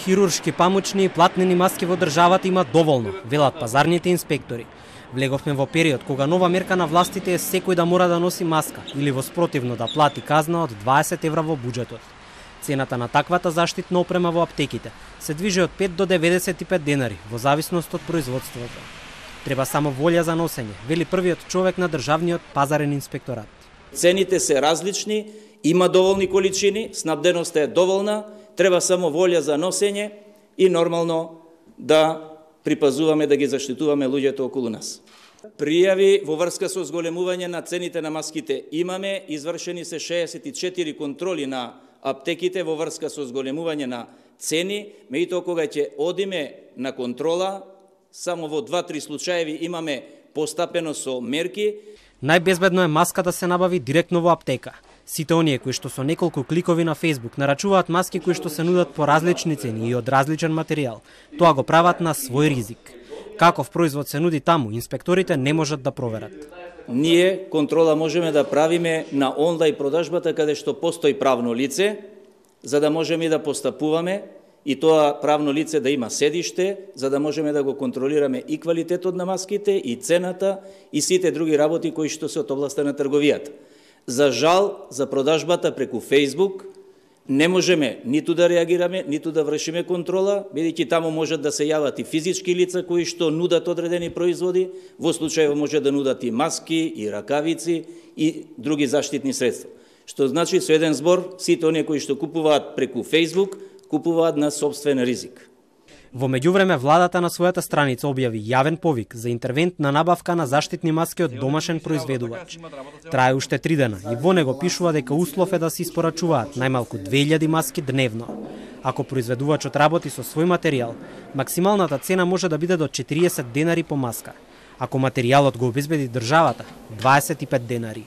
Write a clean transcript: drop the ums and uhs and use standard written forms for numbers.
хируршки памучни и платнени маски во државата има доволно, велат пазарните инспектори. Влеговме во период кога нова мерка на властите е секој да мора да носи маска или во спротивно да плати казна од 20 евра во буџетот. Цената на таквата заштитна опрема во аптеките се движи од 5 до 95 денари во зависност од производството. Треба само волја за носење, вели првиот човек на државниот пазарен инспекторат. Цените се различни, има доволни количини, снабденоста е доволна, треба само волја за носење и нормално да припазуваме да ги заштитуваме луѓето околу нас. Пријави во врска со зголемување на цените на маските имаме, извршени се 64 контроли на аптеките во врска со зголемување на цени, меѓутоа кога ќе одиме на контрола, само во 2-3 случаеви имаме постапено со мерки. Најбезбедно е маска да се набави директно во аптека. Сите оние кои што со неколку кликови на Facebook нарачуваат маски кои што се нудат по различни цени и од различен материјал, тоа го прават на свој ризик. Каков производ се нуди таму, инспекторите не можат да проверат. Ние контрола можеме да правиме на онлайн продажбата каде што постои правно лице, за да можеме да постапуваме и тоа правно лице да има седиште, за да можеме да го контролираме и квалитетот на маските, и цената, и сите други работи кои што се од областа на трговијата. За жал, за продажбата преку Facebook не можеме ниту да реагираме, ниту да вршиме контрола, бидејќи таму можат да се јават и физички лица кои што нудат одредени производи, во случајот може да нудат и маски, и ракавици, и други заштитни средства. Што значи со еден збор, сите оние кои што купуваат преку Facebook, купуваат на собствен ризик. Во меѓувреме, владата на својата страница објави јавен повик за интервентна набавка на заштитни маски од домашен произведувач. Трае уште 3 дена и во него пишува дека услов е да се испорачуваат најмалку 2000 маски дневно. Ако произведувачот работи со свој материјал, максималната цена може да биде до 40 денари по маска. Ако материјалот го обезбеди државата, 25 денари.